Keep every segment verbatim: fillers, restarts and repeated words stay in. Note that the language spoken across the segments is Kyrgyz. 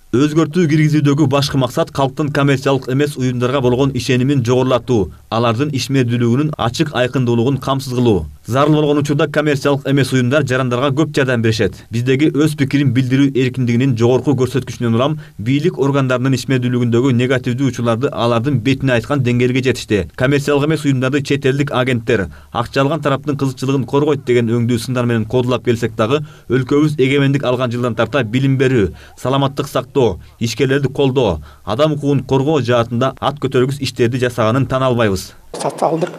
Өзгөртүү киргизүүдөгү башкы максат калктын коммерциялык эмес уюмдарга болгон ишенимин жогорулатуу, алардын ишмердүүлүгүнүн ачык айкындуулугун камсыз кылуу. Зарыл болгон учурда коммерциялык эмес уюмдар жарандарга көп жардам беришет. Биздеги өз пикирин билдирүү эркиндигинин жогорку көрсөткүчүнөн улам бийлик органдарынын ишмердүүлүгүндөгү негативдүү учурларды алардын бетине айткан деңгээлге жетишти. Коммерциялык эмес уюмдарды чет элдик агенттер акча алган тараптын кызыкчылыгын коргойт деген өңдүү сындар менен кодулап келсек дагы, өлкөбүз эгемендик алган жылдан тарта билим берүү, саламаттык сактоо, ишкерлерди колдоо, адам укугун коргоо жаатында ат көтөргүс иштерди жасаганын тана албайбыз. Социалдык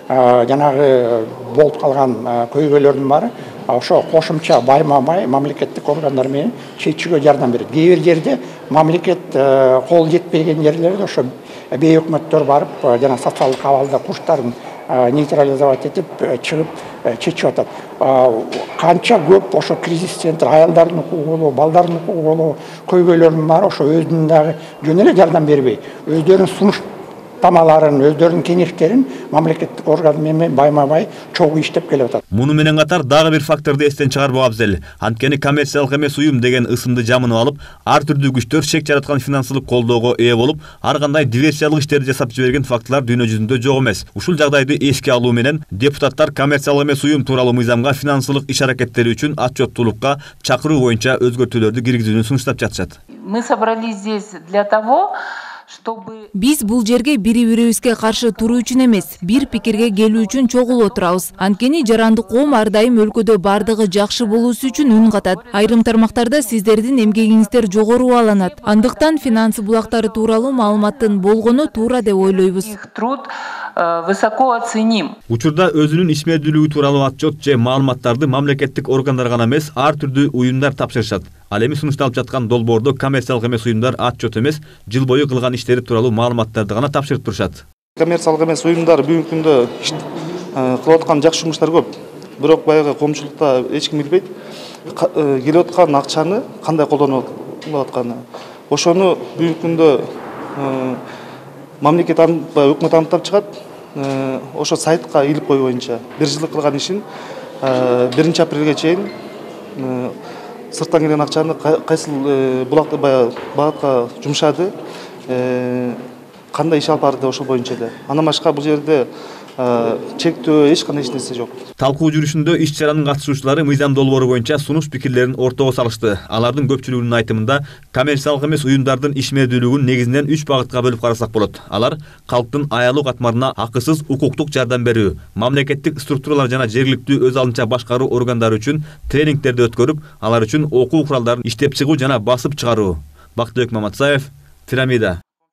жанагы болуп калган көйгөйлөрдүн баары ошо кошумча байма-бай мамлекеттик органдар менен чечүүгө жардам берет. Кээ бир жерде мамлекет кол жетпеген жерлерде ошо бейөкмөттөр барып жана социалдык абалда курчтарын нейтрализовать этип чыгып чечип атат. Канча көп ошо кризис центр, аялдардын укугу болобу, балдардын укугу болобу, көйгөйлөрдүн баары ошо өзүнүн дагы жөн эле жардам бербей, өздөрүнүн сунуш тамаларын, өздөрүнүн кеңештерин мамлекеттик орган менен байма-бай чогуу иштеп келип атат. Муну менен катар дагы бир факторду эстен чыгарбоо абзел. Анткени коммерциялык эмес уюм деген ысымды жамынып алып, ар түрдүү күчтөр шек жараткан финансылык колдоого ээ болуп, ар кандай диверсиялык иштерди жасап жиберген фактылар дүйнө жүзүндө жок эмес. Ушул жагдайды эске алуу менен депутаттар коммерциялык эмес уюм тууралуу мыйзамга финансылык иш-аракеттери үчүн отчеттуулукка чакыруу боюнча өзгөртүүлөрдү киргизүүнү сунуштап жатышат. Мы собрались здесь для того, биз бул жерге бири-бирибизге каршы туруу үчүн эмес, бир пикирге келүү үчүн чогулуп отурабыз. Анткени жарандык коом ар дайым өлкөдө бардыгы жакшы болуусу үчүн үн катат. Айрым тармактарда сиздердин эмгегиңиздер жогору бааланат. Андыктан финансы булактары тууралуу маалыматтын болгону туура деп ойлойбуз. Труд высоко оценим. Учурда өзүнүн ишмердүүлүгү тууралуу отчет же маалыматтарды мамлекеттик органдар гана эмес, ар түрдүү уюмдар тапшырышат. Ал эми сунушталып жаткан долбоордо коммерциялык эмес уюмдар отчет эмес, жыл бою кылган иштери тууралуу маалыматтарды гана тапшырып турушат. Коммерциялык эмес уюмдар бүгүнкү күндө кылып аткан жакшы жумуштар көп. Бирок баягы коомчулукта эч ким билбейт келип аткан акчаны кандай колдонуп атканы. Ошону бүгүнкү күндө мамлекет анықтап, өкмөт анықтап чыгат. Ошо сайтка илип кою боюнча бир жылдык кылган ишин биринчи апрелге чейин сырттан келген акчаны кайсыл булакты багытка жумшады, кандай иш алып барды ошол боюнча эле. Андан башка бул жерде чектөө эч кандай эч нерсе жок. Талкуу жүрүшүндө иш-чаранын катышуучулары мыйзам долбоору боюнча сунуш пикирлерин ортого салышты. Алардын көпчүлүгүнүн айтымында коммерциялык эмес уюмдардын ишмердүүлүгүн негизинен үч багытка бөлүп карасак болот. Алар калктын аялуу катмарына акысыз укуктук жардам берүү, мамлекеттик структуралар жана жергиликтүү өз алынча башкаруу органдары үчүн тренингтерди өткөрүп, алар үчүн окуу куралдарын иштеп чыгуу жана басып чыгаруу. Бактыбек Маматсаев, Пирамида.